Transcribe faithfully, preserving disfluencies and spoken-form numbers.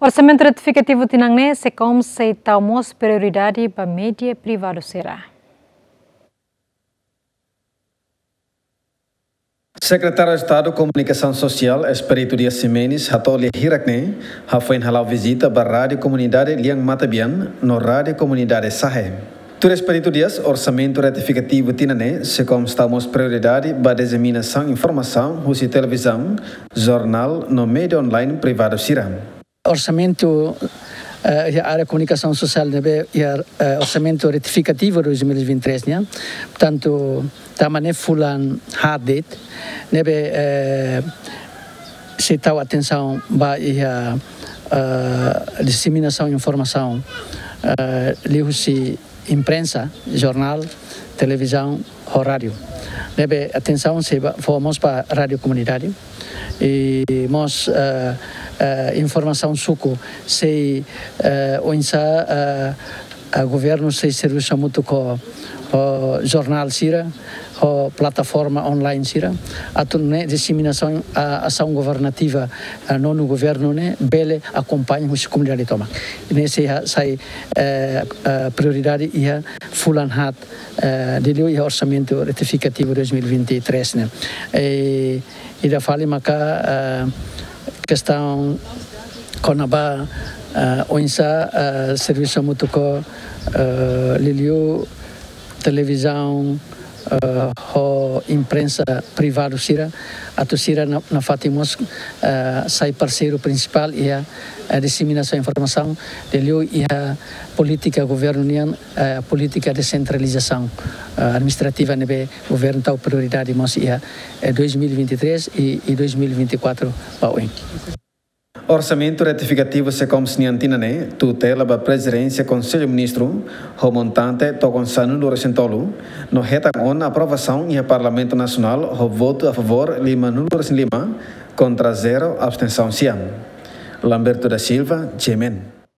Orsamentu retifikativu tinan ne'e, SECOM sei tau mós prioridade ba média privadu sira. Sekretáriu Estadu Komunikasaun Sosiál, Expedito Dias Ximenes, hato'o lia hirak ne'e, hafoin hala'o vizita ba Rádiu Komunidade Lian Matabian, no Rádiu Komunidade Sahe. Tuir Expedito Dias, orsamentu retifikativu tinan ne'e, SECOM sei tau mós prioridade ba diseminasaun informasaun husi televizaun, jornál, no média online privadu sira. Orsamentu, eh, iha área komunikasaun sosiál ne'ebé iha, eh, orsamentu retifikativu dois mil e vinte e três nian, portantu, tama ne'e fulan haat de'it, ne'ebé, eh, sei tau atensaun ba iha, eh, diseminasaun informasaun, eh, liuhusi imprensa, jornál, televizaun, ho rádiu. Ne'ebé atensaun sei ba, fó mós ba rádiu komunidade. I mós, eh, eh, informasaun suku sei, eh, oinsá, eh, eh, governu sei servisu hamutuk ho, ho jornál sira, ho plataforma online sira, atu nune'e diseminasaun, ah, asaun governativa, ah, nonu governu ne'e bele akompaña husi komunidade tomak. Ne'e sei ha-, sai, eh, eh, prioridade iha fulan haat, eh, liuliu iha orsamentu retifikativu dois mil e vinte e três ne'e. Eh, ida fali maka, eh, kestaun kona-ba, eh, oinsá, eh, servisu hamutuk ho, eh, liuliu televizaun, eh, ho imprensa privadu sira, atu sira na-, nafatin mós, eh, sai parseiru prinsipál iha, eh, diseminasaun informasaun, liuliu iha polítika governu nian, eh, polítika desentralizasaun, eh, administrativa ne'ebé governu tau prioridade mós iha, eh, dois mil e vinte e três i, i dois mil e vinte e quatro ba oin. Orsamentu retifikativu SECOM nian tinan ne'e, tutela ba Prezidénsia Konsellu Ministru, ho montante tokon sanulu-resin-tolu, no hetan ona aprovasaun iha Parlamentu Nasionál, ho votu a favór limanulu-resin-lima, kontra zero, abstensaun sia. Lamberto da Silva, G M N.